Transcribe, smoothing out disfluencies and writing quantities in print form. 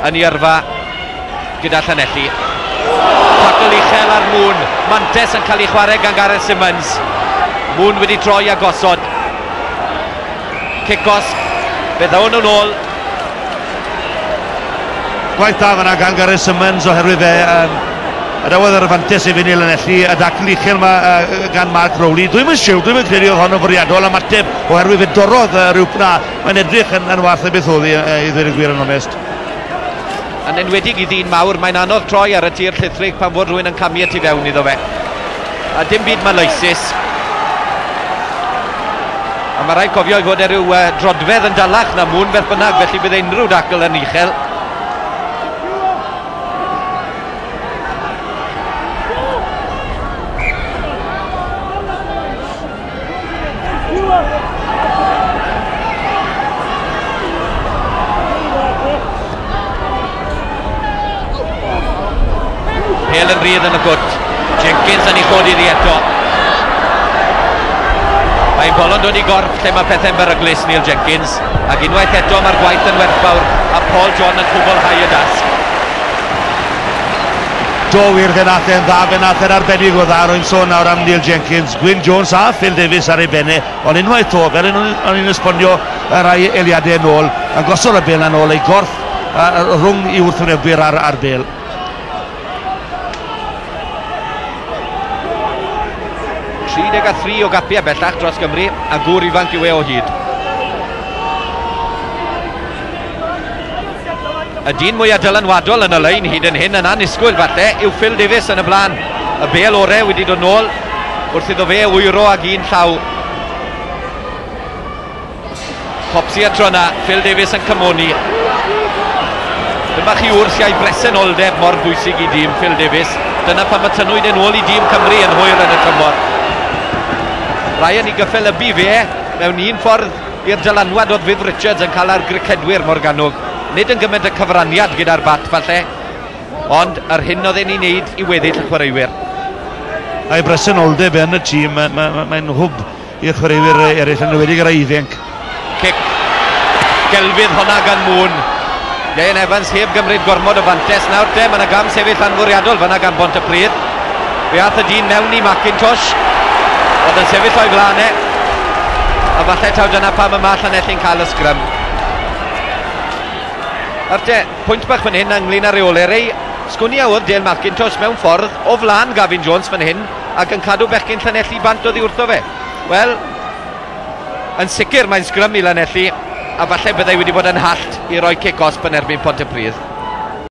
yn ei yrfa gyda Llanelli. Tacl uchel ar Moon. Mantes yn cael ei chwarae gan Gareth Simmons. Moon wedi troi a gosod. Cic osg. Fe ddawn nhw'n ôl. Gwaith da fanna gan Gareth Simmons oherwydd fe adawodd yr fantes i fynd i Lanelli, y dacl uchel yma gan Mark Rowley. Dwi'm yn siwr, dwi'm yn credu oedd hon yn fwriadol ymateb oherwydd fe dorrodd rhyw na. Mae'n edrych yn wath na beth oedd i ddweud y gwir yn onest. Yn enwedig i ddyn mawr, mae'n anodd troi ar y tir llithrig pan fod rhywun yn camu tu fewn iddo fe. A dim byd maleisus. A mae rhaid cofio i fod e rhyw drodfedd yn dalach na Moon beth bynnag, felly bydd unrhyw dacl yn uchel. Pêl yn rhydd yn y gwt. Jenkins yn ei chodi iddi eto. Mae'n bolon dod i gorff lle mae pethau'n beryglus, Neil Jenkins. Ac unwaith eto mae'r gwaith yn werthfawr a Paul John yn cwblhau y dasg. Do wir, fe nath e'n dda, fe nath e'n arbennig o dda. Rwy'n sôn nawr am Neil Jenkins, Gwyn Jones a Phil Davies ar ei benne. Ond unwaith to, fel o'n i'n esbonio y rai eiliadau yn ôl, yn gosod y bêl yn ôl, ei gorff rhwng i wrthwynebwyr ar bêl. 33 o gapiau bellach dros Gymru, a gŵr ifanc yw e o hyd. Y dyn mwyaf dylanwadol yn y lein hyd yn hyn yn annisgwyl falle yw Phil Davies yn y blaen. Y bêl orau wedi dod nôl wrth iddo fe wyro ag un llaw. Copsi a tro yna, Phil Davies yn cymoni. Dyma chi wrs iau bresenoldeb mor bwysig i dîm Phil Davies. Dyna pam y tynnwyd yn ôl i dîm Cymru yn hwyr yn y tymor. Ryan i gyffelybu fe mewn un ffordd i'r dylanwad oedd Viv Richards yn cael ar gricedwyr Morgannwg. Nid yn gymaint y cyfraniad gyda'r bat falle, ond yr hyn oedd e'n ei wneud i weddill y chwaraewyr. A'i bresenoldeb yn y tîm, mae'n hwb i'r chwaraewyr eraill, yn enwedig yr ifanc. Cic gelfydd honna gan Moon. Ieuan Evans heb gymryd gormod o fantes. Nawr te, mae yna gam sefyll anfwriadol fanna gan Bontypridd. Fe ath y dyn mewn i McIntosh. Oedd yn sefyll o'i flaen e. A falle taw dyna pam y mae Llanelli'n cael y sgrym. Nawr te, pwynt bach fan hyn ynglyn â reolau. Rei, sgwn i a oedd Dale McIntosh mewn ffordd o flaen Gavin Jones fan hyn ac yn cadw bechgyn Llanelli bant oddi wrtho fe. Wel, yn sicr mae'n sgrym i Lanelli, a falle byddai wedi bod yn hallt i roi cic osb yn erbyn Pontypridd.